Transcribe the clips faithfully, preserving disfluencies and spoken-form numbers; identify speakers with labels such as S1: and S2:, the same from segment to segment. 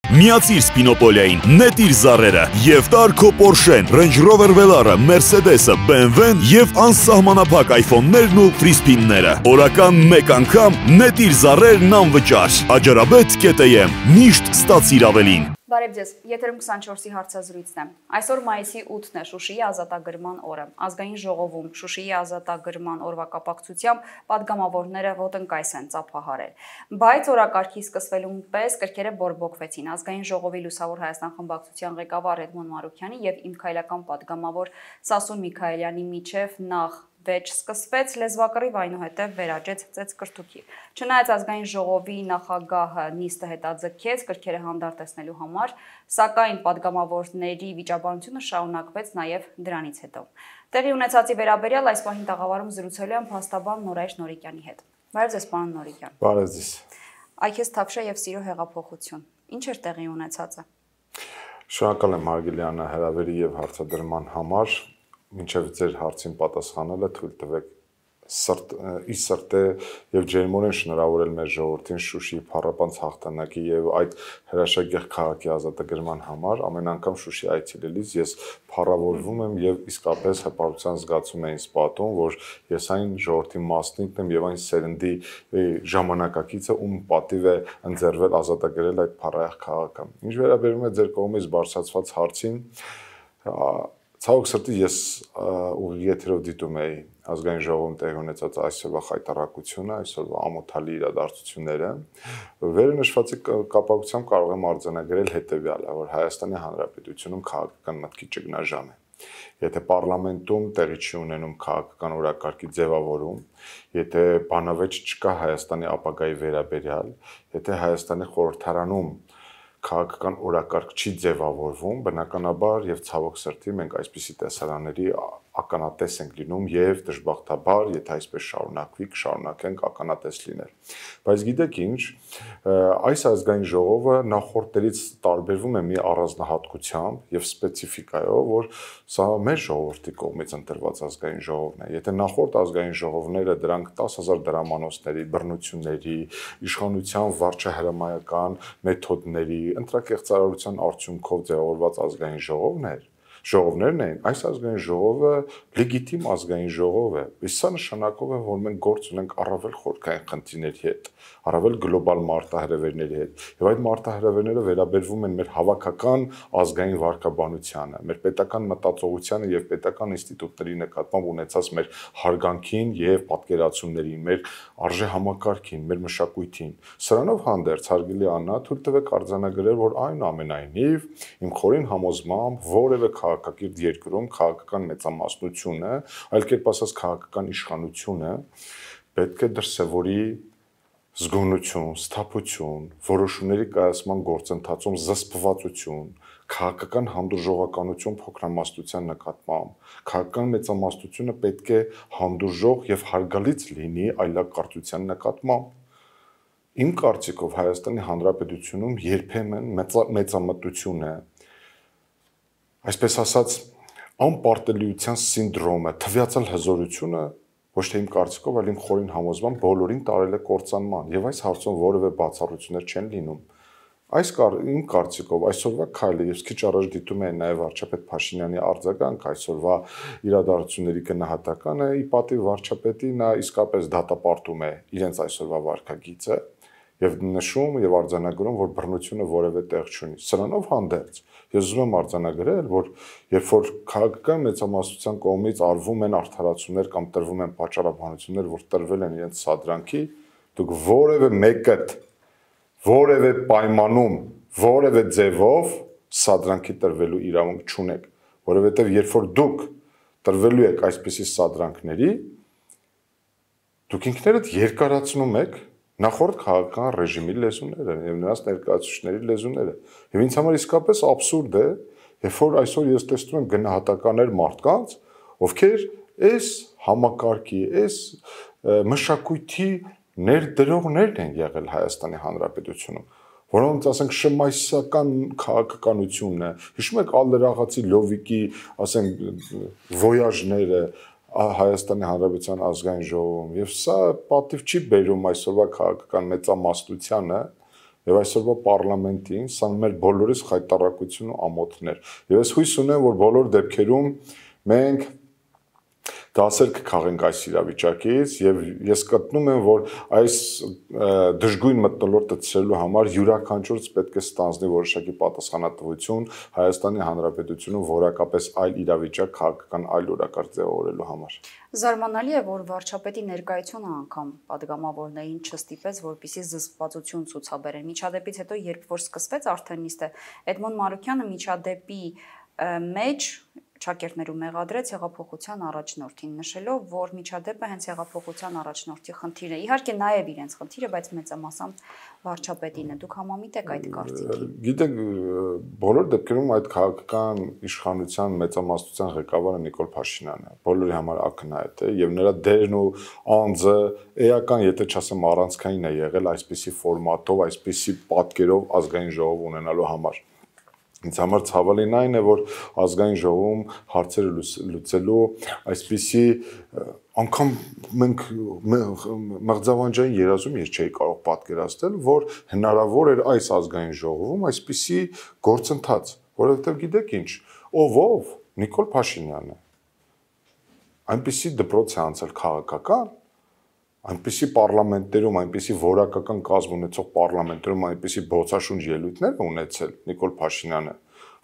S1: Միացիր Spinopol-ային, նետիր զառերը եւ տար քո Porsche-ն, Range Rover Velar-ը, Mercedes-ը, B M W-ն եւ անսահմանափակ iPhone-ներն ու free spin-ները։ Օրական մեկ անգամ նետիր զառերն անվճար։ Աջարաբեդ կետեմ, միշտ ստացիր ավելին։
S2: Բարև ձեզ, եթերում քսանչորսի հարցազրույցն է։ Այսօր մայիսի ութն է, Շուշիի ազատագրման օրը։ Ազգային ժողովում Շուշիի ազատագրման օրվա կապակցությամբ պատգամավորները ոտնկայս են ծափահարել։ Բայց օրակարգի սկսվելուն պես կրքերը բորբոքվեցին։ Ազգային ժողովի Լուսավոր Հայաստան խմբակցության ղեկավար Էդմոն Մարուքյանի եւ իմ քայլական պատգամավոր Սասուն Միքայելյանի միջև նախ վեճ սկսվեց, լեզվակռիվ այնուհետև վերաճեց ծեծկրտուքի։ Չնայած ազգային ժողովի նախագահը նիստը հետաձգեց կրքերը հանդարտեցնելու համար, սակայն պատգամավորների վիճաբանությունը շարունակվեց նաև դրանից հետո։ Տեղի ունեցածի վերաբերյալ այս պահին տաղավարում զրուցելու եմ փաստաբան Նորայր Նորիկյանի հետ։ Բարև ձեզ, պարոն Նորիկյան։
S3: Բարև ձեզ։
S2: Այգես Թավշյա եւ Սիրո հեղափոխություն։ Ինչ էր տեղի ունեցածը։
S3: Շնորհակալ եմ Հարգելյանը հրավերի եւ հարցադրման համար։ Մինչև ձեր հարցին պատասխանելը թույլ տվեք սրտ ի սրտե եւ ջերմորեն շնորհավորել մեր ժողովրդին Շուշիի փառապանծ հաղթանակի եւ այդ հրաշագեղ քաղաքի ազատագրման համար։ Ամեն անգամ Շուշի այցելելիս ես փառավորվում եմ եւ իսկապես հպարտության զգացում եմ ինձ պատում, որ ես այն ժողովրդի մասնիկն եմ եւ այն սերնդի ժամանակակիցը, ում պատիվ է ընձեռվել ազատագրել այդ փառահեղ քաղաքը։ Ինչ վերաբերում է ձեր կողմից բարձրացված հարցին, ցավոք սրտի ես ուղիղ եթերով դիտում էի ազգային ժողովում տեղի ունեցած այսօրվա խայտառակությունը, այսօրվա ամոթալի իրադարձությունները, վերնշվածի կապակցությամբ կարող եմ արձանագրել հետևյալը, որ Հայաստանի Հանրապետությունում քաղաքական մտքի ճգնաժամ է։ Եթե պարլամենտում տեղի չի ունենում քաղաքական օրակարգի ձևավորում, եթե բանավեճ չկա Հայաստանի ապագայի վերաբերյալ, եթե Հայաստանի խորհրդարանում քաղաքական օրակարգ չի ձևավորվում, բնականաբար եւ ցավոք սրտի մենք այսպիսի տեսարանների ականատես ենք լինում եւ դժբախտաբար, եթե այսպես շարունակվի, կշարունակենք ականատես լինել։ Բայց գիտեք ինչ, այս ազգային ժողովը նախորդներից տարբերվում է մի առանձնահատկությամբ եւ սպეციფიკայով, որ սա մեր ժողովրդի կողմից ընտրված ազգային ժողովն է։ Եթե նախորդ ազգային ժողովները դրանք տասը հազար դրամանոցների, բռնությունների, իշխանության վարչահրամայական մեթոդների, ընտրակեղծարարության արդյունքով ձևավորված ազգային ժողովներ, ժողովներն են, այս ազգային ժողովը լեգիտիմ ազգային ժողով է։ Իսկ սա նշանակով է, որ մենք գործ ունենք առավել խորքային խնդիրների հետ, առավել գլոբալ մարտահրավերների հետ։ Եվ այդ մարտահրավերները վերաբերվում են մեր հավաքական ազգային վարքաբանությանը, մեր պետական մտածողությանը եւ պետական ինստիտուտների նկատմամբ ունեցած մեր հարգանքին եւ պատկերացումներին, մեր արժե համակարգին, մեր մշակույթին։ Սրանով հանդերձ, հարգելի Աննա, թույլ տվեք արձանագրել, որ այնուամենայնիվ իմ խորին համոզմամբ որևէ քաղաքակիրթ երկրում քաղաքական մեծամասնությունը, այլ կերպ ասած քաղաքական իշխանությունը պետք է դրսևորի զգոնություն, սթափություն, որոշումների կայացման գործընթացում զսպվածություն, քաղաքական հանդուրժողականություն փոքրամասնության նկատմամբ, քաղաքական մեծամասնությունը պետք է հանդուրժող եւ հարգալից լինի այլակարծության նկատմամբ։ Իմ կարծիքով Հայաստանի Հանրապետությունում երբեմն մեծամտություն է, այսպես ասած, անպարտելիության սինդրոմը, թվյացալ հզորությունը ոչ թե իմ կարծիքով, այլ իմ խորին համոզմամբ բոլորին տարել է կործանման եւ այս հարցում որևէ բացառություններ չեն լինում։ Այս իմ կարծիքով այսօրվա քայլը ես քիչ առաջ դիտում եմ նաեւ վարչապետ Փաշինյանի արձագանք այսօրվա իրադարձությունների գնահատականը, ի պատիվ վարչապետի նա իսկապես դատապարտում է իրենց այսօրվա վարքագիծը եւ նշում եւ արձանագրում, որ բռնությունը որևէ տեղ չունի։ Սրանով հանդերձ ես ուզում եմ արձանագրել, որ երբ որ քաղաքական մեծամասնության կողմից արվում են արդարացումներ կամ տրվում են պատճառաբանություններ, որ տրվել են իրենց սադրանքի, դուք որևէ մեկը որևէ պայմանում, որևէ ձևով սադրանքի տրվելու իրավունք չունեք, որովհետեւ երբ որ դուք տրվելու եք այսպիսի սադրանքների, դուք ինքներդ երկարացնում եք նախորդ քաղաքական ռեժիմի լեզուները եւ նրանց ներկայացուցիչների լեզուները։ Եվ ինձ համար իսկապես աբսուրդ է, երբ որ այսօր ես տեսնում եմ գնահատականներ մարդկանց, ովքեր այս համակարգի, այս մշակույթի ներդրողներն են եղել Հայաստանի Հանրապետությունում, որոնց ասենք շմայսական քաղաքականությունն է։ Հիշում եք Ալլերաղացի Լովիկի, ասենք, վոյաժները Հայաստանի Հանրապետության ազգային ժողովում եւ սա պատիվ չի բերում այսօրվա քաղաքական մեծամասնությանը եւ այսօրվա parlamentin սա մեր բոլորիս խայտարակություն ու ամոթներ։ Եվ ես հույս ունեմ, որ բոլոր դեպքերում մենք դասեր կքաղենք այս իրավիճակից եւ ես գտնում եմ, որ այս դժգույն մթնոլորտը ցրելու համար յուրաքանչյուրս պետք է ստանձնի որոշակի պատասխանատվություն Հայաստանի Հանրապետությունում որակապես այլ իրավիճակ քաղաքական այլ օրակարգ ձևավորելու համար։
S2: Զարմանալի է, որ վարչապետի ներկայությունը անգամ падգամավորներին չստիպեց, որպեսզի զսպվածություն ցուցաբերեն։ Միջադեպից հետո, երբ որ սկսվեց արդեն նիստը, Էդմոն Մարուկյանը միջադեպի մեջ Չակերտներու մեղադրեց հեղափոխության առաջնորդին, նշելով, որ միջադեպը հենց հեղափոխության առաջնորդի խնդիրն է։ Իհարկե նաև իրենց խնդիրը, բայց մեծամասամբ վարչապետին է։ Դուք համամիտ եք այդ կարծիքին։
S3: Գիտեք, բոլոր դեպքերում այդ քաղաքական իշխանության մեծամասնության ղեկավարը Նիկոլ Փաշինյանն է։ Բոլորի համար ակնհայտ է եւ նրա դերն ու անձը էական, եթե չասեմ առանցքային է եղել այսպիսի ֆորմատով, այսպիսի պատկերով ազգային ժողով ունենալու համար։ Ինձ համար ցավալին այն է, որ ազգային ժողովում հարցերը լուծելու այսպիսի անգամ մենք մղձավանջային երազում ես չէի կարող պատկերացնել, որ հնարավոր էր այս ազգային ժողովում այսպիսի գործընթաց, որովհետև գիտեք ինչ, ով ով Նիկոլ Փաշինյանն է։ Այնպիսի դպրոց է անցել քաղաքական, այնպիսի պարլամենտերում, այնպիսի որակական կազմ ունեցող պարլամենտերում այնպիսի բոցաշունչ ելույթներ ունեցել Նիկոլ Փաշինյանը,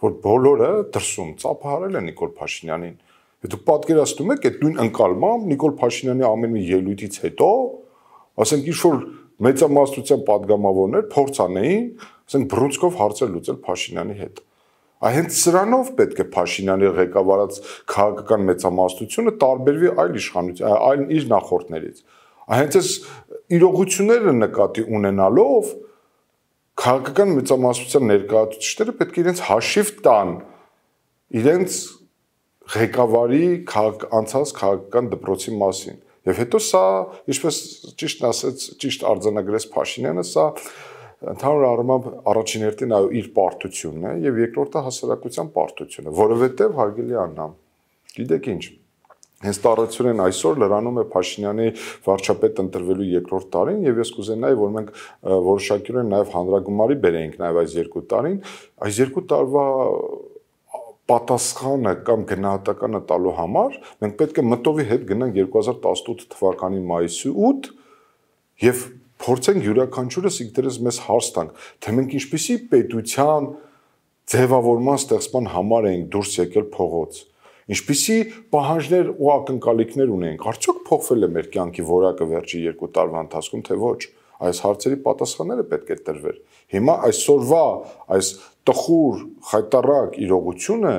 S3: որ բոլորը դրսում ծափահարել են Նիկոլ Փաշինյանին։ Դուք պատկերացնում եք այդ նույն ընկալմամբ Նիկոլ Փաշինյանի ամեն մի ելույթից հետո, ասենք ինչ-որ մեծամասնության падգամավորներ փորձ անեին, ասենք բռունցքով հարցեր լուծել Փաշինյանի հետ։ Հենց սրանով պետք է Փաշինյանի ղեկավարած քաղաքական մեծամասնությունը տարբերվի այլ իշխանության, այլ իր նախորդներից։ Հենց այս իրողությունները նկատի ունենալով քաղաքական մեծամասնության ներկայացուցիչները պետք է իրենց հաշիվ տան իրենց ղեկավարի անցած քաղաքական դպրոցի մասին։ Եվ հետո սա, ինչպես ճիշտ ասեց, ճիշտ արձանագրեց Փաշինյանը, սա ընդհանուր առմամբ առաջին հերթին այո իր պարտությունն է եւ երկրորդը հասարակության պարտությունը, որովհետեւ հարգելի Աննա, գիտեք ինչ, հենց տարածությունն այսօր լրանում է Փաշինյանի վարչապետ ընտրվելու երկրորդ տարին եւ ես կուզենայի, որ մենք որոշակիորեն նաեւ հանրագումարի բերեինք նաեւ այս երկու տարին, այս երկու տարվա պատասխանը կամ գնահատականը տալու համար մենք պետք է մտովի հետ գնանք երկու հազար տասնութ թվականի մայիսի ութ եւ փորձենք յուրաքանչյուրս ինքներս մեզ հարց տանք, թե մենք ինչպիսի պետության ձևավորման ստեղծման համար ենք դուրս եկել փողոց, ինչպիսի պահանջներ ու ակնկալիքներ ունենք, արդյոք փոխվել է մեր կյանքի որակը վերջի երկու տարվա ընթացքում, թե ոչ, այս հարցերի պատասխանները պետք է տրվեր։ Հիմա այսօրվա այս տխուր, խայտառակ իրողությունը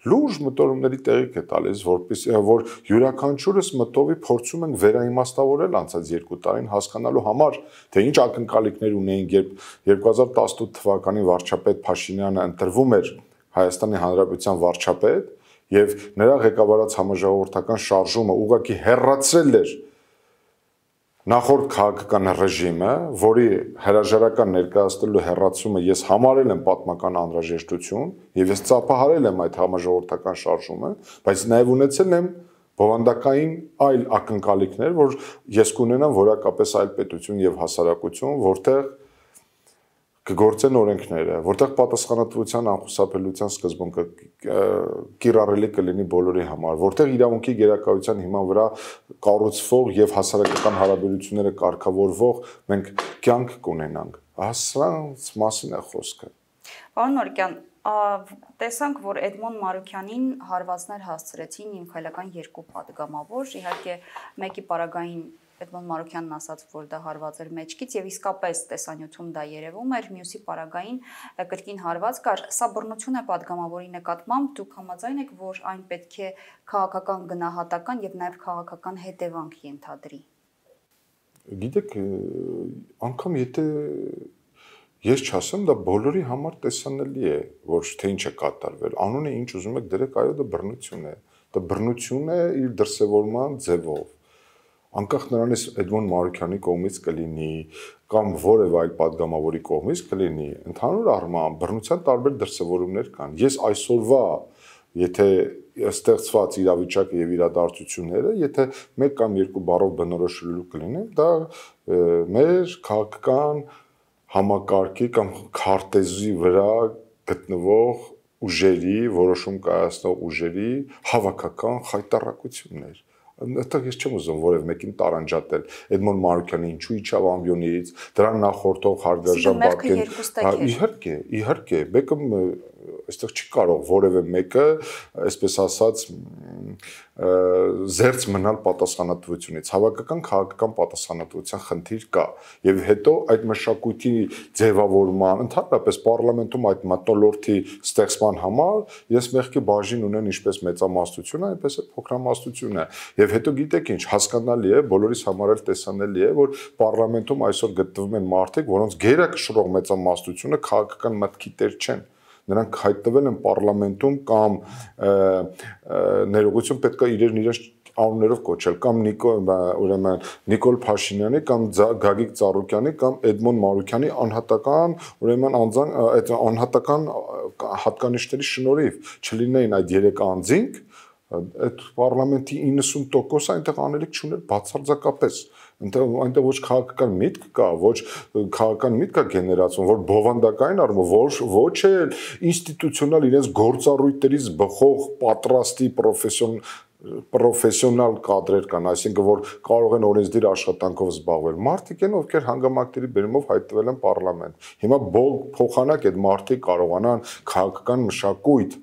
S3: լուրջ մտորումների տեղիք է տալիս, որպես որ յուրաքանչյուրս մտովի փորձում ենք վերաիմաստավորել անցած երկու տարին հասկանալու համար, թե ինչ ակնկալիքներ ունեին, երբ երկու հազար տասնութ թվականի վարչապետ Փաշինյանը ընտրվում էր Հայաստանի Հանրապետության վարչապետ եւ նրա ղեկավարած համաժողովրդական շարժումը ուղղակի հեռացրել էր նախորդ քաղաքական ռեժիմը, որի հրաժարական ներկայացնելու հեռացումը ես համարել եմ պատմական անհրաժեշտություն եւ ես ծափահարել եմ այդ համաժողովրդական շարժումը, բայց նաեւ ունեցել եմ բովանդակային այլ ակնկալիքներ, որ ես կունենամ որակապես այլ պետություն եւ հասարակություն, որտեղ կգործեն օրենքները, որտեղ պատասխանատվության անխուսափելիության սկզբունքը կիրառելի կլինի բոլորի համար, որտեղ իրավունքի գերակայության հիման վրա կառուցվող եւ հասարակական հարաբերությունները կարգավորվող մենք կյանք կունենանք։ Սրանց մասին է խոսքը։
S2: Պարոն Մարուկյան, տեսանք, որ Էդմոն Մարուկյանին հարվածներ հասցրեցին իմ քայլական երկու падգամավոր, իհարկե մեկի պարագային Էդմոն Մարուկյանն ասաց, որ դա հարված էր մեջքից եւ իսկապես տեսանյութում դա երևում էր, մյուսի պարագային կրկին հարված կար։ Սա բռնություն է падգամավորի նկատմամբ, դուք համաձայն եք, որ այն պետք է քաղաքական գնահատական եւ նաեւ քաղաքական հետևանք ենթադրի։
S3: Գիտեք, անգամ եթե ես չասեմ, դա բոլորի համար տեսանելի է, ոչ թե ինչ է կատարվել։ Անունը ինչ ուզում եք դրեք, այո, դա բռնություն է։ Դա բռնություն է իր դրսևորման ձևով։ Անկախ նրանից Էդմոն Մարուկյանի կողմից կլինի կամ որևէ այլ падգամավորի կողմից կլինի, ընդհանուր առմամբ բռնության տարբեր դրսևորումներ կան։ Ես այսօրվա, եթե ստեղծված իրավիճակը եւ իրադարձությունները, եթե մեկ կամ երկու բառով բնորոշելու կլինեմ, դա մեր քաղաքական համակարգի կամ քարտեզի վրա գտնվող ուժերի, որոշում կայացնող ուժերի հավաքական խայտառակություններ։ Այդտեղ ես չեմ ուզում որևէ մեկին տարանջատել։ Էդմոն Մանուկյանը ինչու իջավ ամբյոնից, դրան նախորդող Հարգարժան Բաբկեն, իհարկե, իհարկե, մեկը այստեղ չի կարող որևէ մեկը, այսպես ասած, զերծ մնալ պատասխանատվությունից։ Հավաքական քաղաքական պատասխանատվության խնդիր կա, եւ հետո այդ մշակույթի ձևավորման, ընդհանրապես պարլամենտում այդ մթնոլորտի ստեղծման համար ես մեղքի բաժին ունեն ինչպես մեծամասնությունը, այնպես էլ փոքրամասնությունը։ Եվ հետո գիտեք ինչ, հասկանալի է, բոլորիս համար էլ տեսանելի է, որ պարլամենտում այսօր գտնվում են մարդիկ, որոնց գերակշռող մեծամասնությունը քաղաքական մտքի տեր չեն։ Նրանք հայտնվել են պարլամենտում կամ ներողություն պետք է իրեն իրենց անուններով կոչել, կամ ուրեմն Նիկոլ Փաշինյանի, կամ Գագիկ Ծառուկյանի, կամ Էդմոն Մանուկյանի անհատական, ուրեմն անձան այդ անհատական հատկանիշների շնորհիվ չլինեին այդ երեք անձինք, այդ պարլամենտի իննսուն տոկոսը այնտեղ անելիք չուներ բացարձակապես։ Այնտեղ ոչ քաղաքական միտք կա, ոչ քաղաքական միտք կա գեներացվում, որ բովանդակային առումով, ոչ ոչ էլ ինստիտուցիոնալ իրենց գործառույթներից բխող պատրաստի պրոֆեսիոն պրոֆեսիոնալ կադրեր կան, այսինքն որ կարող են օրենսդիր աշխատանքով զբաղվել։ Մարդիկ են, ովքեր հանգամանքների բերումով հայտնվել են պարլամենտ։ Հիմա փոխանակ այդ մարդիկ կարողանան քաղաքական մշակույթ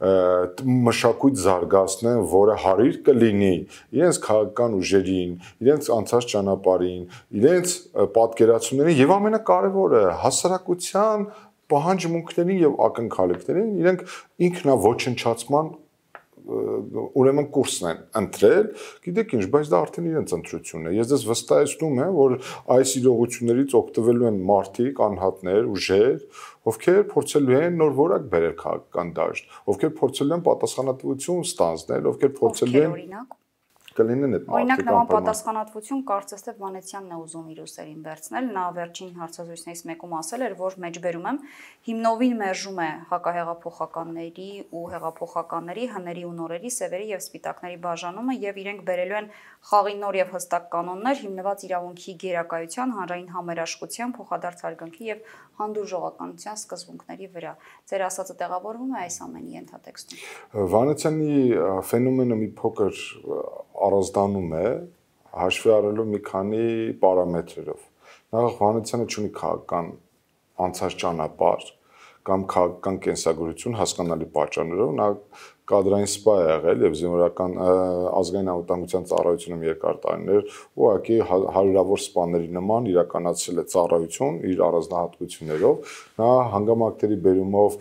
S3: մշակույթ զարգացնեն, որը հարիր կլինի իրենց քաղաքական ուժերին, իրենց անցած ճանապարհին, իրենց պատկերացումներին եւ ամենակարևորը հասարակության պահանջմունքներին եւ ակնկալիքներին իրենք ինքնաոչնչացման ուրեմն կուրսն են ընտրել, գիտեք ինչ, բայց դա արդեն իրենց ընտրությունն է։ Ես դες վստահեցնում եմ, որ այս իրողություններից օգտվելու են մարդիկ, անհատներ, ուժեր, ովքեր փորձելու են նոր որակ բերել քաղաքական դաշտ, ովքեր փորձելու են պատասխանատվություն ստանձնել, ովքեր փորձելու են օրինակ կլինեն այդ
S2: Օրինակ նման պատասխանատվություն կարծես թե Վանեցյանն է ուզում իր ուսերին վերցնել, նա վերջին հարցազրույցներից մեկում ասել էր, որ մեջբերում եմ հիմնովին մերժում է հակահեղափոխականների ու հեղափոխականների, հների ու նորերի, սևերի եւ սպիտակների բաժանումը եւ իրենք բերելու են խաղի նոր եւ հստակ կանոններ հիմնված իրավունքի գերակայության, հանրային համերաշխության, փոխադարձ հարգանքի եւ հանդուրժողականության սկզբունքների վրա։ Ձեր ասածը տեղավորվում է այս ամենի ենթատեքստում։
S3: Վանեցյանի ֆենոմենը մի փոքր առանձնանում է հաշվի առնելով մի քանի պարամետրերով։ Նախ Վանեցյանը ունի քաղաքական անցած ճանապարհ կամ քաղաքական կենսագրություն հասկանալի պատճառներով, նա կադրային սպա է եղել եւ զինվորական ազգային անվտանգության ծառայությունում երկար տարիներ ուղղակի հարյուրավոր սպաների նման իրականացրել է ծառայություն իր առանձնահատկություններով, նա հանգամանքների բերումով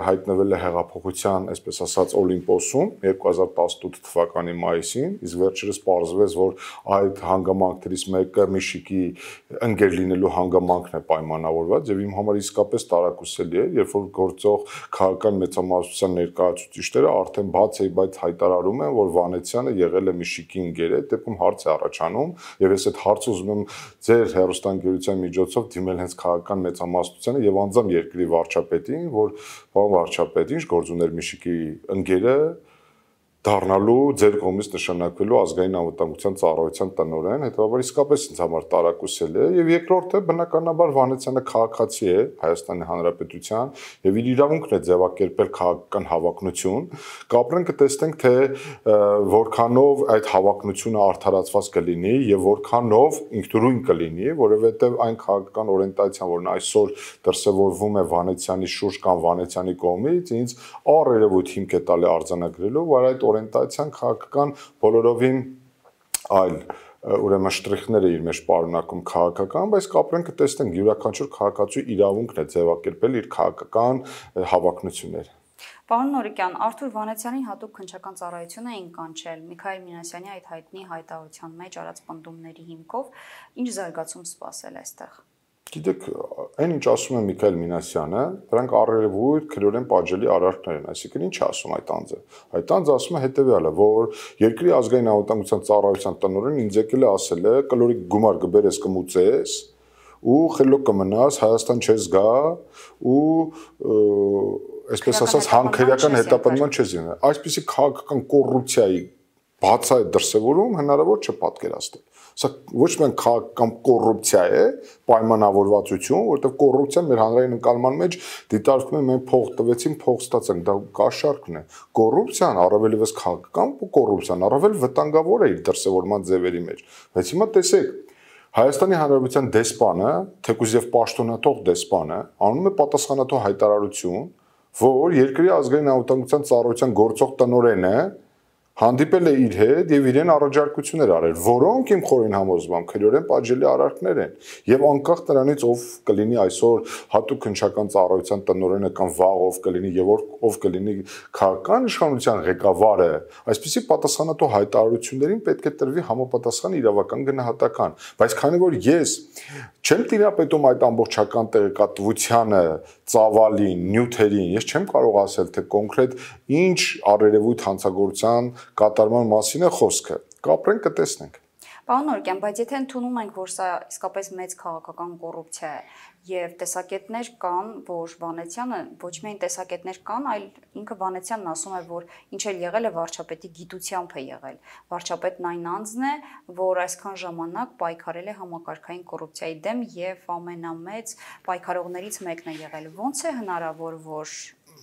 S3: հայտնվել է հեղափոխության, այսպես ասած, Օլիմպոսում երկու հազար տասնութ թվականի մայիսին, իսկ վերջերս պարզվեց, որ այդ հանգամանքներից մեկը Միշիկի ընկեր լինելու հանգամանքն է պայմանավորված եւ իմ համար իսկապես տարակուսելի է, երբ որ գործող քաղաքական մեծամասնության ներկայացուցիչները արդեն բաց է, բայց հայտարարում են, որ Վանեցյանը եղել է Միշիկի ընկեր, այդ դեպքում հարց է առաջանում եւ ես այդ հարցը ուզում եմ ձեր հեռուստաընկերության միջոցով դիմել հենց քաղաքական մեծամասնությանը եւ անձամբ երկրի վարչապետին, որ պարոն վարչապետ, ինչ գործ ուներ Միշիկի ընկերը դառնալու ձեր կողմից նշանակվելու ազգային անվտանգության ծառայության տնօրեն, հետեւաբար իսկապես ինձ համար տարակուսել է եւ երկրորդը բնականաբար Վանեցյանը քաղաքացի է Հայաստանի Հանրապետության եւ իր իրավունքն է ձևակերպել քաղաքական հավակնություն, կապրեն կտեսնենք թե որքանով այդ հավակնությունը արդարացված կլինի եւ որքանով ինքնուրույն կլինի, որովհետեւ այն քաղաքական օրենտացիան, որն այսօր դրսեւորվում է Վանեցյանի շուրջ կամ Վանեցյանի կողմից, ինձ առերևույթ հիմք է տալի արձանագրելու, որ այդ օրենտացիան քաղաքական բոլորովին այլ ուրեմն շտրիխներ է իր մեջ պարունակում քաղաքական, բայց կապրեն կտեսնենք յուրաքանչյուր քաղաքացու իրավունքն է ձևակերպել իր քաղաքական հավակնությունները։
S2: Պարոն Նորիկյան, Արթուր Վանեցյանի հատուկ քննչական ծառայություն էին կանչել Միքայել Մինասյանի այդ հայտնի հայտարարության մեջ արած պնդումների հիմքով, ինչ զարգացում սպասել այստեղ։
S3: Գիտեք, այն ինչ ասում է Միքայել Մինասյանը, դրանք առերևույթ քրորեն պատժելի արարքներ են, այսինքն ինչ ասում այդ անձը։ Այդ անձը ասում է հետևյալը, որ երկրի ազգային անվտանգության ծառայության տնօրենն ինձ եկել է ասել է, կլորիկ գումար կբերես կմուծես ու խելոք կմնաս, Հայաստան չես գա ու այսպես ասած հանքերական հետապնդման չես լինի։ Այսպիսի քաղաքական կոռուպցիայի բացահայտ դրսևորում հնարավոր չէ պատկերացնել։ Սա ոչ միայն քաղաքական կոռուպցիա է, պայմանավորվածություն, որովհետև կոռուպցիան մեր հանրային ընկալման մեջ դիտարկվում է մենք փող տվեցին, փող ստացանք, դա կաշառքն է։ Կոռուպցիան, առավել եւս քաղաքական կոռուպցիան, առավել վտանգավոր է իր դրսևորման ձևերի մեջ։ Բայց հիմա տեսեք, Հայաստանի Հանրապետության դեսպանը, թեկուզ եւ պաշտոնաթող դեսպանը, անում է պատասխանատու հայտարարություն, որ երկրի ազգային անվտանգության ծառայության գործող տնօրենը հանդիպել է իր հետ եւ իրեն առաջարկություններ արել, որոնք իմ խորին համոզմամբ քրեորեն պատժելի արարքներ են եւ անկախ նրանից ով կլինի այսօր հատուկ քննչական ծառայության տնօրենը կամ վաղ ով կլինի եւ ով կլինի քաղաքական իշխանության ղեկավարը, այսպիսի պատասխանատու հայտարարություններին պետք է տրվի համապատասխան իրավական գնահատական, բայց քանի որ ես չեմ տիրապետում այդ ամբողջական տեղեկատվությանը, ծավալին, նյութերին, ես չեմ կարող ասել թե կոնկրետ ինչ առերևույթ հանցագործության կատարման մասին է խոսքը, կապրենք կտեսնենք։
S2: Պարոն Նորկյան, բայց եթե ընդունում ենք, որ սա իսկապես մեծ քաղաքական կոռուպցիա է եւ տեսակետներ կան, որ Վանեցյանը ոչ միայն տեսակետներ կան, այլ ինքը Վանեցյանն ասում է, որ ինչ էլ եղել է վարչապետի գիտությամբ է եղել։ Վարչապետն այն անձն է, որ այսքան ժամանակ պայքարել է համակարգային կոռուպցիայի դեմ եւ ամենամեծ պայքարողներից մեկն է եղել։ Ոնց է հնարավոր, որ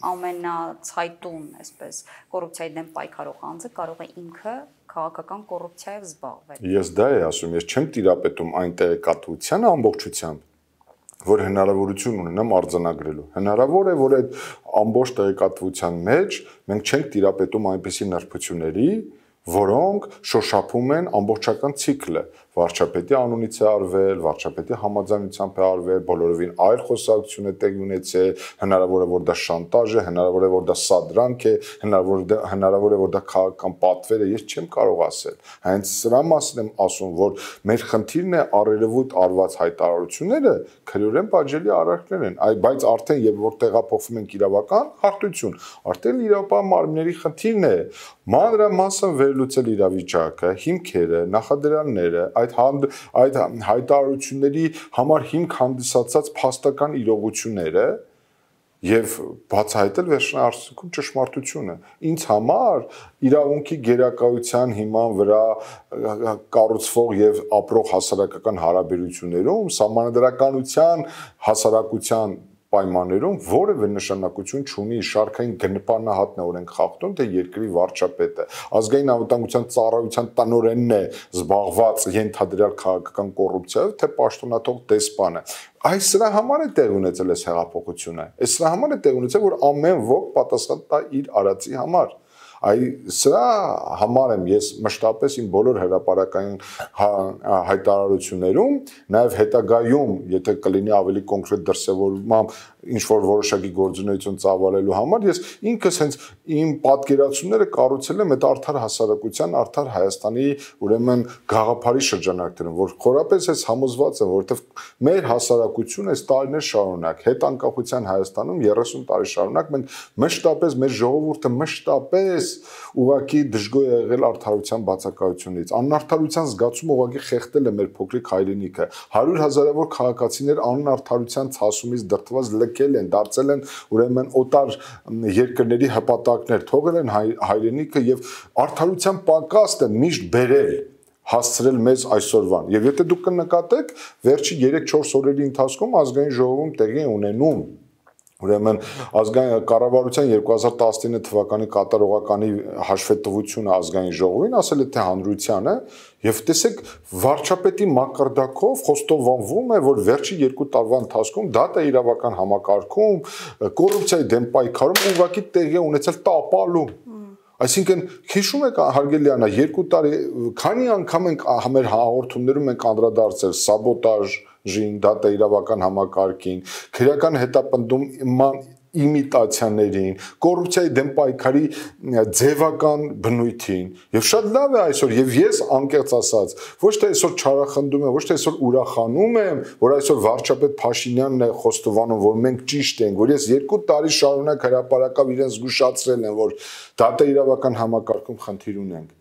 S2: ամենացայտուն, այսպես, կոռուպցիայի դեմ պայքարող անձը կարող է ինքը քաղաքական կոռուպցիայով զբաղվել։
S3: Ես դա եմ ասում, ես չեմ տիրապետում այն տեղեկատվությանը ամբողջությամբ, որ հնարավորություն ունենամ արձանագրելու։ Հնարավոր է, որ այդ ամբողջ տեղեկատվության մեջ մենք չենք տիրապետում այնպիսի նրբությունների, որոնք շոշափում են ամբողջական ցիկլը, վարչապետի անունից է արվել, վարչապետի համաձայնությամբ է արվել, բոլորովին այլ խոսակցություն է տեղի ունեցել, հնարավոր է որ դա շանտաժ է, հնարավոր է որ դա սադրանք է, հնարավոր է հնարավոր է որ դա քաղաքական պատվեր է, ես չեմ կարող ասել։ Հենց սրա մասին եմ ասում, որ մեր խնդիրն է առերևույթ արված հայտարարությունները քրեորեն պատժելի արարքներ են, այ բայց արդեն երբ որ տեղափոխվում ենք իրավական հարթություն, արդեն իրավապահ մարմինների խնդիրն է մանրամասն վերլուծել իրավիճակը, հիմքերը, նախադրյալները, այդ այդ հայտարարությունների համար հիմք հանդիսացած փաստական իրողությունները եւ բացահայտել վերջնարարցքում ճշմարտությունը։ Ինձ համար իրավունքի գերակայության հիման վրա կառուցվող եւ ապրող հասարակական հարաբերություններում սահմանադրականության հասարակության պայմաններում որևէ նշանակություն չունի շարքային գնպանահատն է օրենք խախտում, թե երկրի վարչապետը, ազգային անվտանգության ծառայության տնօրենն է զբաղված ենթադրյալ քաղաքական կոռուպցիայով, թե պաշտոնաթող դեսպանը։ Այս սրա համար է տեղ ունեցել այս հեղափոխությունը։ Այս սրա համար է տեղ ունեցել, որ ամեն ոք պատասխան տա իր արածի համար։ Այ սրա համար եմ ես մշտապես իմ բոլոր հրապարակային հայտարարություններում, նաև հետագայում, եթե կլինի ավելի կոնկրետ դրսևորմամբ ինչ որ որոշակի գործունեություն ծավալելու համար, ես ինքս հենց իմ պատկերացումները կառուցել եմ այդ արդար հասարակության, արդար Հայաստանի ուրեմն գաղափարի շրջանակներում, որ խորապես ես համոզված եմ, որովհետև մեր հասարակությունը այս տարիներ շարունակ, հետանկախության Հայաստանում երեսուն տարի շարունակ մենք մշտապես մեր ժողովուրդը մշտապես ուղղակի դժգոհ է եղել արդարության բացակայությունից, անարդարության զգացումը ուղղակի խեղդել է մեր փոքրիկ հայրենիքը, հարյուր հազարավոր քաղաքացիներ անարդարության ցասումից դրդված լքել են, դարձել են ուրեմն օտար երկրների հպատակներ, թողել են հայրենիքը եւ արդարության պակասը միշտ բերել հասցրել մեզ այսօրվան։ Եվ եթե դուք կնկատեք, վերջի երեք-չորս օրերի ընթացքում ազգային ժողովում տեղի է ունենում ուրեմն ազգային կառավարության երկու հազար տասնինը թվականի կատարողականի հաշվետվությունը ազգային ժողովին, ասել է թե հանրությանը, եւ տեսեք վարչապետի մակարդակով խոստովանվում է, որ վերջի երկու տարվա ընթացքում դատա իրավական համակարգում կոռուպցիայի դեմ պայքարում ուղղակի տեղի ունեցել տապալում։ Այսինքն հիշում եք հարգելյանա երկու տարի քանի անգամ ենք մեր հաղորդումներում ենք անդրադարձել սաբոտաժին, դատա իրավական համակարգին, քրեական հետապնդման իմիտացիաներին, կոռուպցիայի դեմ պայքարի ձևական բնույթին եւ շատ լավ է այսօր եւ ես անկեղծ ասած ոչ թե այսօր չարախնդում եմ, ոչ թե այսօր ուրախանում եմ, որ այսօր վարչապետ Փաշինյանն է խոստովանում, որ մենք ճիշտ ենք, որ ես երկու տարի շարունակ հրապարակավ իրեն զգուշացրել եմ, որ դատա իրավական համակարգում խնդիր ունենք։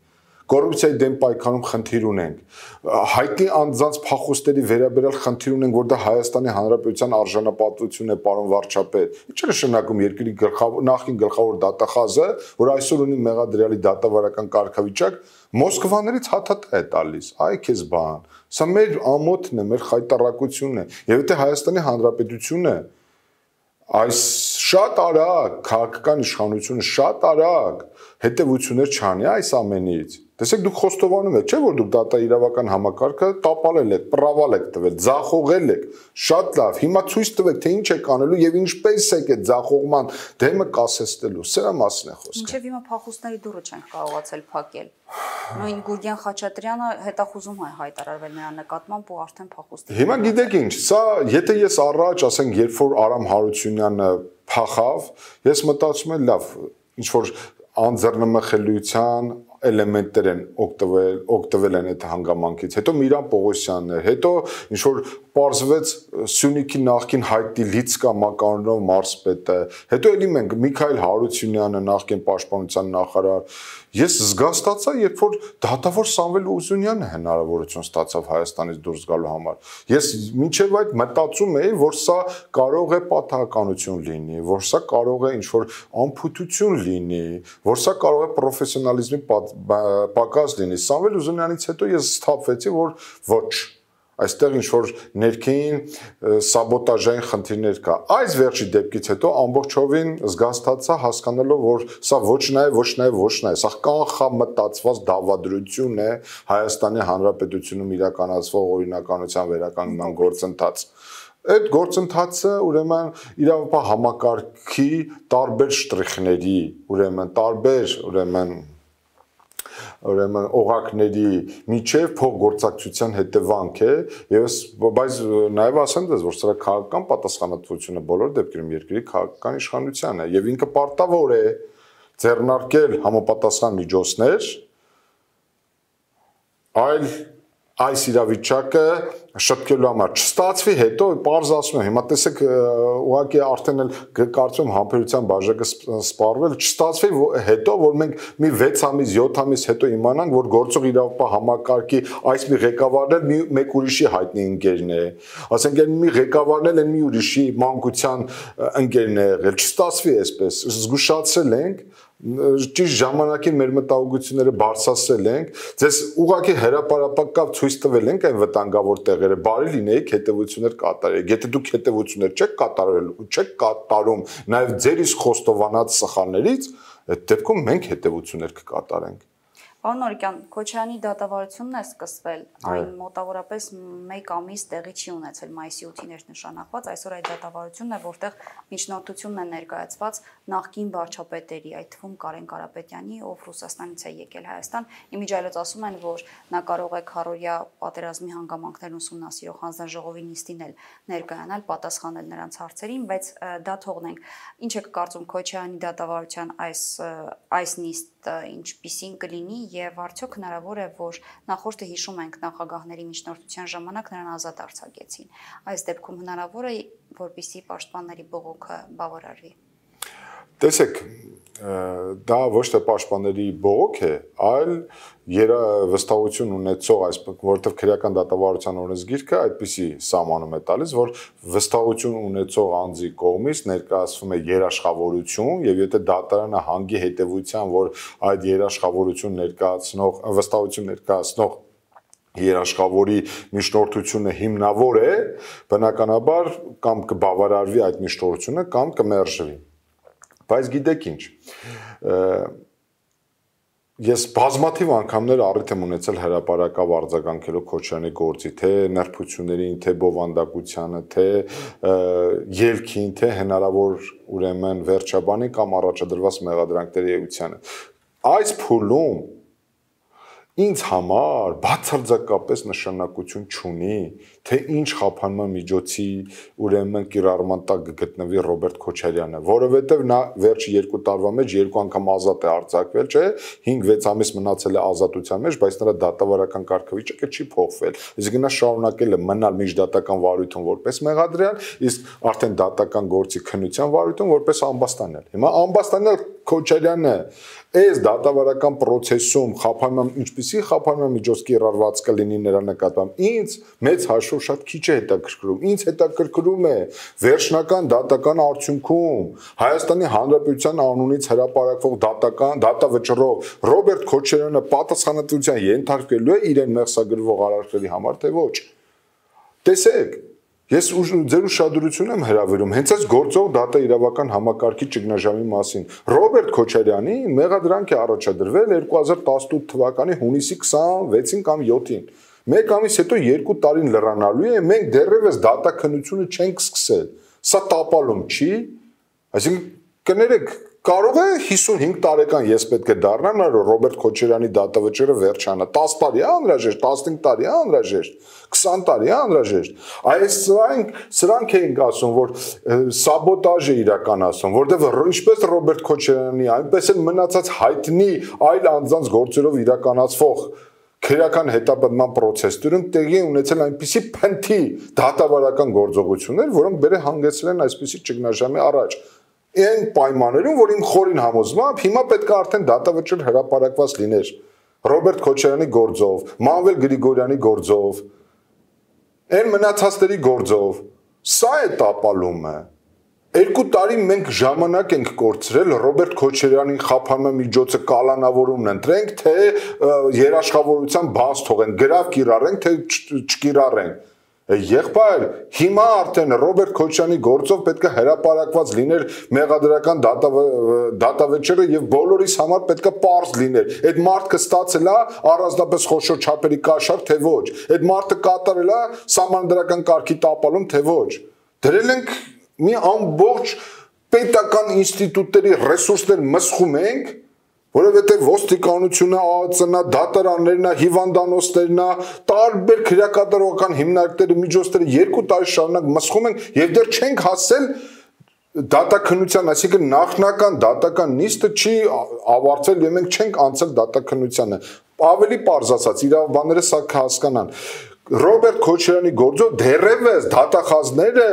S3: կոռուպցիայի դեմ պայքարում խնդիր ունենք, հայտնի անձանց փախուստերի վերաբերյալ խնդիր ունենք, որ դա Հայաստանի Հանրապետության արժանապատվությունն է, պարոն վարչապետ։ Ինչ է նշանակում երկրի գլխավոր նախին գլխավոր դատախազը, որ այսօր ունի մեղադրյալի դատավարական կարգավիճակ, Մոսկվաներից հաթաթ է տալիս, այ քեզ բան։ Սա մեր ամոթն է, մեր խայտարակությունն է։ Եվ եթե Հայաստանի Հանրապետությունը այս շատ արագ քաղաքական իշխանությունը շատ արագ հետևություններ չանի այս ամենից։ Տեսեք, դուք խոստովանում եք, չէ՞ որ դուք դատաիրավական համակարգը տապալել եք, պրավալ եք տվել, ձախողել եք։ Շատ լավ։ Հիմա ցույց տվեք, թե ինչ եք անելու եւ ինչպես եք այդ ձախողման դեմը կասեցնելու։ Սրա մասն է խոսքը։
S2: Մինչև հիմա փախուստների դուռը չենք կարողացել փակել։ Նույն Գուրգեն Խաչատրյանը հետախուզում է հայտարարվել նրա նկատմամբ ու արդեն փախուստի։
S3: Հիմա գիտեք ինչ, սա եթե ես առաջ, ասենք, երբ որ Արամ Հարությունյանը փախավ, ես մտածում եմ, լավ, ինչ որ անձեռնմխելիության էլեմենտներ են օգտվել, օգտվել են այդ հանգամանքից։ Հետո Միրան Պողոսյանն էր, հետո ինչ որ պարզվեց Սյունիքի նախկին հայտնի Լիցկա մականունով մարզպետը, հետո էլի մենք Միքայել Հարությունյանը, նախկին պաշտպանության նախարար։ Ես զգաստացա, երբ որ դատավոր Սամվել Ուզունյանը հնարավորություն ստացավ Հայաստանից դուրս գալու համար։ Ես մինչև այդ մտածում էի, որ սա կարող է պատահականություն լինի, որ սա կարող է ինչ որ անփութություն լինի, որ սա կարող է պրոֆեսիոնալիզմի պակաս լինի։ Սամվել Ուզունյանից հետո ես սթափվեցի, որ ոչ, այստեղ ինչ որ ներքին սաբոտաժային խնդիրներ կա։ Այս վերջի դեպքից հետո ամբողջովին զգաստացա, հասկանալով, որ սա ոչ նաև, ոչ նաև, ոչ նաև, սա կանխամտածված դավադրություն է Հայաստանի Հանրապետությունում իրականացվող օրինականության վերականգնման գործընթաց։ Այդ գործընթացը ուրեմն իրավապահ համակարգի տարբեր շտրիխների, ուրեմն տարբեր, ուրեմն ուրեմն օղակների միջև փոխգործակցության հետևանք է եւ բայց նաեւ ասեմ դες որ սրա քաղաքական պատասխանատվությունը բոլոր դեպքերում երկրի քաղաքական իշխանության է եւ ինքը պարտավոր է ձեռնարկել համապատասխան միջոցներ այլ այս իրավիճակը շտկելու համար չստացվի հետո պարզ ասում եմ հիմա տեսեք ուղղակի արդեն էլ կարծում համբերության բաժակը սպառվել չստացվի հետո որ մենք մի վեց ամիս յոթ ամիս հետո իմանանք որ գործող իրավապահ համակարգի այս մի ղեկավարն էլ մի մեկ ուրիշի հայտնի ընկերն է ասենք այն մի ղեկավարն էլ այն մի ուրիշի մանկության ընկերն է եղել չստացվի այսպես զգուշացել ենք ճիշտ ժամանակին մեր մտահոգությունները բարձրացրել ենք ձեզ ուղղակի հրապարակապ ցույց տվել ենք այն վտանգավոր տեղերը բարի լինեիք հետևություններ կատարեք եթե դուք հետևություններ չեք կատարել ու չեք կատարում նաև ձեր իսկ խոստովանած սխալներից այդ դեպքում մենք հետևություններ կկատարենք
S2: Պարոն Նորիկյան, Քոչարյանի դատավարությունն է սկսվել, այն մոտավորապես մեկ ամիս տեղի չի ունեցել մայիսի ութին էր նշանակված, այսօր այդ դատավարությունն է, որտեղ միջնորդությունն է ներկայացված նախկին վարչապետերի, այդ թվում Կարեն Կարապետյանի, ով Ռուսաստանից է եկել Հայաստան, իմիջիայլոց ասում են, որ նա կարող է քառօրյա պատերազմի հանգամանքներն ուսումնասիրող հանձնաժողովի նիստին էլ ներկայանալ, պատասխանել նրանց հարցերին, բայց դա թողնենք։ Ինչ եք կարծում Քոչարյանի դատավարության այս այս նիստը ինչպիսին կլինի եւ արդյոք հնարավոր է որ նախորդը հիշում ենք նախագահների միջնորդության ժամանակ նրան ազատ արձակեցին այս դեպքում հնարավոր է որպեսզի պաշտպանների բողոքը բավարարվի
S3: Տեսեք դա ոչ թե պաշտպանների բողոք է այլ երավստահություն ունեցող այս որովհետև քրեական դատավարության օրենսգիրքը այդպիսի սահմանում է տալիս որ վստահություն ունեցող անձի կողմից ներկայացվում է երաշխավորություն եւ եթե դատարանը հանգի հետեւության որ այդ երաշխավորություն ներկայացնող վստահություն ներկայացնող երաշխավորի միջնորդությունը հիմնավոր է բնականաբար կամ կբավարարվի այդ միջնորդությունը կամ կմերժվի Բայց գիտեք ինչ, ես բազմաթիվ անգամներ առիթ եմ ունեցել հրապարակավ արձագանքելով Քոչարյանի գործի, թե նրբություններին, թե բովանդակությանը, թե ելքին, թե հնարավոր ուրեմն վերջաբանի կամ առաջադրված մեղադրանքների էությանը։ Այս փուլում ինձ համար բացարձակապես նշանակություն չունի, թե ինչ խափանման միջոցի ուրեմն կիրառման տակ գտնվի Ռոբերտ Քոչարյանը, որովհետև նա վերջի երկու տարվա մեջ երկու անգամ ազատ է արձակվել, չէ, հինգ-վեց ամիս մնացել է ազատության մեջ, բայց նրա դատավարական կարգավիճակը չի փոխվել։ Իսկ նա շարունակել է մնալ միջդատական վարույթում որպես մեղադրյալ, իսկ արդեն դատական գործի քննության վարույթում որպես ամբաստանել։ Հիմա ամբաստանել Քոչարյանը այս դատավարական process-ում խափանման ինչպիսի խափանման միջոց կիրառված կլինի նրա նկատմամբ ինձ մեծ հաշվով շատ քիչ է հետաքրքրում ինձ հետաքրքրում է վերջնական դատական արդյունքում Հայաստանի Հանրապետության անունից հրապարակվող դատական դատավճռով Ռոբերտ Քոչարյանը պատասխանատվության ենթարկվելու է իրեն մեղսագրվող արարքների համար թե ոչ տեսեք Ես ձեր ուշադրություն եմ հրավիրում հենց այս գործող դատա իրավական համակարգի ճգնաժամի մասին։ Ռոբերտ Քոչարյանին մեղադրանք է առաջադրվել երկու հազար տասնութ թվականի հունիսի քսանվեցին կամ յոթին։ Մեկ ամիս հետո երկու տարին լրանալու է, մենք դեռևս դատաքննությունը չենք սկսել։ Սա տապալում չի։ Այսինքն կներեք Կարող է հիսունհինգ տարեկան ես պետք է դառնամ, Ռոբերտ Քոչարյանի դատավճիռը վերջանա, տասը տարի է անհրաժեշտ, տասնհինգ տարի է անհրաժեշտ, քսան տարի է անհրաժեշտ։ Այս սրանք սրանք էին ասում, որ սաբոտաժ է իրականացում, որտեղ ինչպես Ռոբերտ Քոչարյանի, այնպես էլ մնացած հայտնի այլ անձանց գործերով իրականացվող քրեական հետապնդման process-երում տեղի ունեցել այնպիսի փնթի դատավարական գործողություններ, որոնք բերե հանգեցրել են այսպիսի ճգնաժամի առաջ։ Այն պայմաններում, որ իմ խորին համոզմամբ հիմա պետք է արդեն դատավճիռ հրապարակված լիներ Ռոբերտ Քոչարյանի գործով, Մանվել Գրիգորյանի գործով, այն մնացածների գործով, սա է տապալումը։ Երկու տարի մենք ժամանակ ենք կորցրել Ռոբերտ Քոչարյանին խափանման միջոցը կալանավորումն ընտրենք, թե երաշխավորության բաց թողենք, գրավ կիրառենք, թե չկիրառենք։ Եղբայր, հիմա արդեն Ռոբերտ Քոչարյանի գործով պետք է հրապարակված լիներ մեղադրական դատավճիռը եւ բոլորիս համար պետք է պարզ լիներ։ Այդ մարդը ստացել է առանձնապես խոշոր չափերի կաշառք, թե ոչ։ Այդ մարդը կատարել է սահմանադրական կարգի տապալում, թե ոչ։ Դրել ենք մի ամբողջ պետական ինստիտուտների ռեսուրսներ մսխում ենք, որովհետև ոստիկանությունը, ԱԱԾ-նա, դատարաններն, հիվանդանոցներն, տարբեր քրեակատարողական հիմնարկները, միջոցները երկու տարի շարունակ մսխում են եւ դեռ չենք հասել դատաքննության, այսինքն նախնական դատական նիստը չի ավարտվել եւ մենք չենք անցել դատաքննությանը։ Ավելի պարզ ասած, իրավաբանները սա կհասկանան։ Ռոբերտ Քոչարյանի գործով դեռևս դատախազները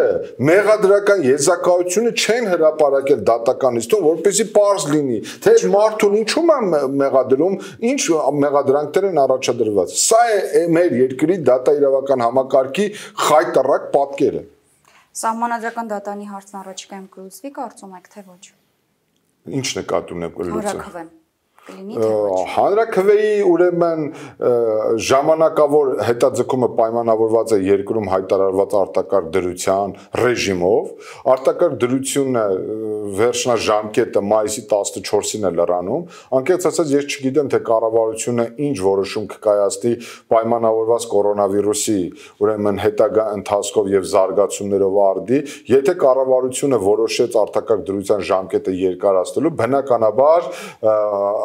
S3: մեղադրական եզակայությունը չեն հրապարակել դատական նիստում, որպեսզի պարզ լինի, թե մարդուն ինչու է մեղադրում, ինչ մեղադրանքներ են առաջադրված։ Սա է մեր երկրի դատաիրավական համակարգի խայտառակ պատկերը։
S2: Սահմանադրական դատանի հարցն առաջիկայում կլուծվի, կարծում եք, թե ոչ։
S3: Ինչ նկատի ունեք կլուծել։
S2: Հանրաքվեի
S3: ուրեմն ժամանակավոր հետաձգումը պայմանավորված է երկրում հայտարարված արտակարգ դրության ռեժիմով, արտակարգ դրությունը վերջնաժամկետը մայիսի տասնչորսին է լրանում, անկեղծ ասած ես չգիտեմ թե կառավարությունը ինչ որոշում կկայացնի պայմանավորված կորոնավիրուսի ուրեմն հետագա ընթացքով եւ զարգացումներով արդի, եթե կառավարությունը որոշեց արտակարգ դրության ժամկետը երկարացնելու, բնականաբար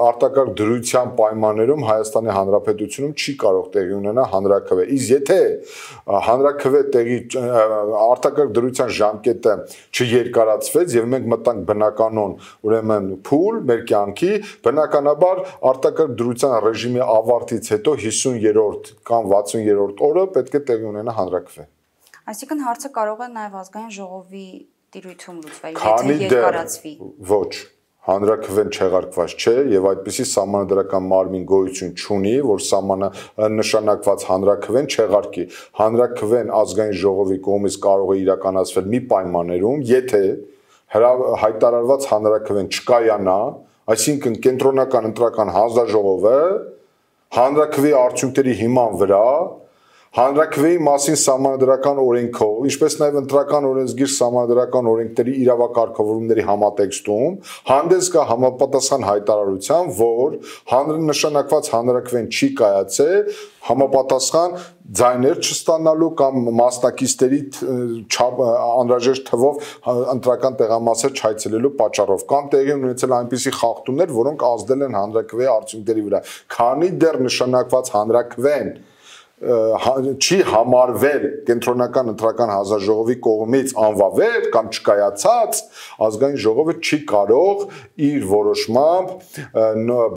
S3: արտակարգ դրության պայմաններում Հայաստանի Հանրապետությունում չի կարող տեղի ունենալ հանրաքվե։ Իսկ եթե հանրաքվե տեղի արտակարգ դրության ժամկետը չերկարացվեց եւ մենք մտանք բնականon, ուրեմն փուլ մեր կյանքի, բնականաբար արտակարգ դրության ռեժիմի ավարտից հետո հիսուն-երրորդ կամ վաթսուն-երրորդ օրը պետք է տեղի ունենա հանրաքվե։
S2: Այսինքն հարցը կարող է նաեւ ազգային ժողովի տիրույթում լուծվել, եթե երկարացվի։
S3: Ոչ Հանրաքվեն չեղարկված չէ եւ այդպիսի սահմանադրական մարմին գոյություն չունի, որ սահմանանշանակված հանրաքվեն չեղարկի։ Հանրաքվեն ազգային ժողովի կողմից կարող է իրականացվել մի պայմաններում, եթե հայտարարված հանրաքվեն չկայանա, այսինքն կենտրոնական ընտրական հանձնաժողովը հանրաքվեի արդյունքների հիման վրա Հանրաքվեի մասին սահմանադրական օրենքով, ինչպես նաև ընտրական օրենսգիր սահմանադրական օրենքների իրավակարգավորումների համատեքստում հանդես կա համապատասխան հայտարարության, որ հանրնշանակված հանրաքվեն չի կայացել, համապատասխան ձայներ չստանալու կամ մասնակիցների անհրաժեշտ թվով ընտրական տեղամասեր չայցելելու պատճառով կամ տեղի ունեցել այնպիսի խախտումներ, որոնք ազդել են հանրաքվեի արդյունքների վրա, քանի դեռ նշանակված հանրաքվեն չի համարվել կենտրոնական ընտրական հանձնաժողովի կողմից անվավեր կամ չկայացած, ազգային ժողովը չի կարող իր որոշմամբ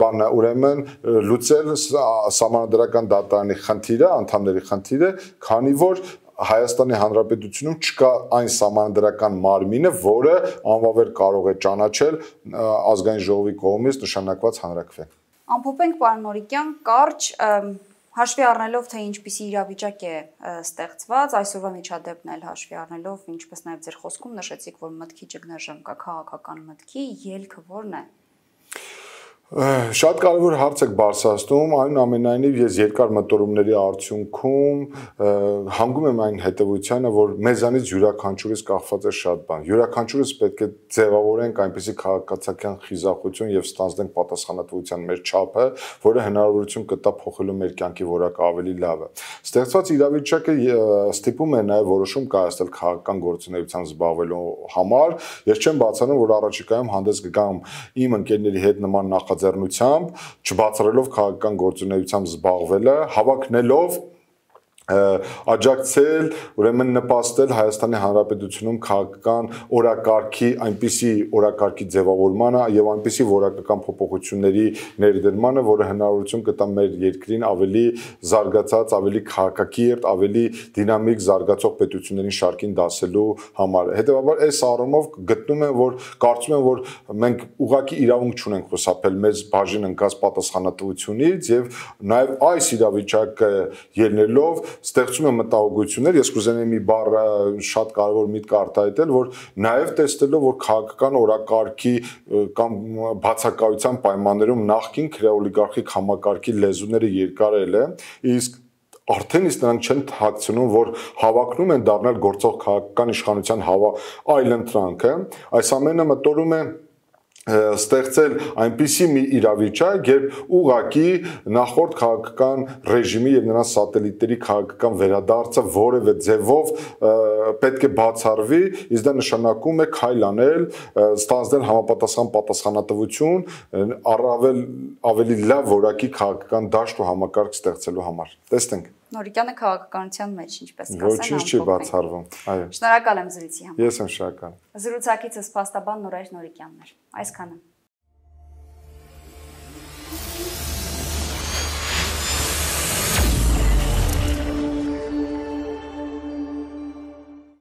S3: բանը ուրեմն լուծել սահմանադրական դատարանի խնդիրը, անդամների խնդիրը, քանի որ Հայաստանի Հանրապետությունում չկա այն սահմանադրական մարմինը, որը անվավեր կարող է ճանաչել ազգային ժողովի կողմից նշանակված հանրաքվե։
S2: Ամփոփենք, պարոն Նորիկյան, կարճ հաշվի առնելով, թե ինչպիսի իրավիճակ է ստեղծված, այսօրվա միջադեպն էլ հաշվի առնելով, ինչպես նաև ձեր խոսքում նշեցիք, որ մտքի ճգնաժամ կա, քաղաքական մտքի ելքը որն է։
S3: Շատ կարևոր հարց եք բարձրացնում, այնուամենայնիվ ես երկար մտորումների արդյունքում հանգում եմ այն հետևությանը, որ մեզանից յուրաքանչյուրից կախված է շատ բան։ Յուրաքանչյուրից պետք է ձևավորենք այնպիսի քաղաքացիական խիզախություն եւ ստանձնենք պատասխանատվության մեր չափը, որը հնարավորություն կտա փոխելու մեր կյանքի որակը ավելի լավը։ Ստեղծված իրավիճակը ստիպում է նաեւ որոշում կայացնել քաղաքական գործունեությամբ զբաղվելու համար։ Ես չեմ բացառում, որ առաջիկայում հանդես կգամ իմ ընկերների հետ նման նախաձեռնությամբ, չբացառելով քաղաքական գործունեությամբ զբաղվելը, հավակնելով աջակցել, ուրեմն նպաստել Հայաստանի Հանրապետությունում քաղաքական օրակարգի այնպիսի օրակարգի ձևավորմանը եւ այնպիսի որակական փոփոխությունների ներդրմանը, որը հնարավորություն կտա մեր երկրին ավելի զարգացած, ավելի քաղաքակիրթ, ավելի դինամիկ զարգացող պետությունների շարքին դասելու համար։ Հետևաբար այս առումով գտնում եմ, որ կարծում եմ, որ մենք ուղղակի իրավունք չունենք խուսափել մեզ բաժին ընկած պատասխանատվությունից եւ նաեւ այս իրավիճակը ելնելով ստեղծում է մտահոգություններ, ես կուզենայի մի բառ շատ կարևոր միտք արտահայտել, որ նաև տեսնելով, որ քաղաքական օրակարգի կամ բացակայության պայմաններում նախկին քրեոլիգարխիկ համակարգի լեզուները երկարել է, իսկ արդեն իսկ նրանք չեն թաքցնում, որ հավակնում են դառնալ գործող քաղաքական իշխանության հավա այլընտրանքը, այս ամենը մտորում է ստեղծել այնպիսի մի իրավիճակ, երբ ուղղակի նախորդ քաղաքական ռեժիմի եւ նրանց սատելիտների քաղաքական վերադարձը որևէ ձևով պետք է բացառվի, իսկ դա նշանակում է քայլ անել, ստանձնել համապատասխան պատասխանատվություն, առավել ավելի լավ որակի քաղաքական դաշտ ու համակարգ ստեղծելու համար։ Տեսնենք։
S2: Նորիկյանը քաղաքականության մեջ ինչպես կասեն։
S3: Ոչինչ չի բացառվում։ Այո։
S2: Շնորհակալ եմ զրույցի համար։
S3: Ես եմ շնորհակալ։
S2: Զրուցակիցս փաստաբան Նորայր Նորիկյանն էր։ Այսքանը։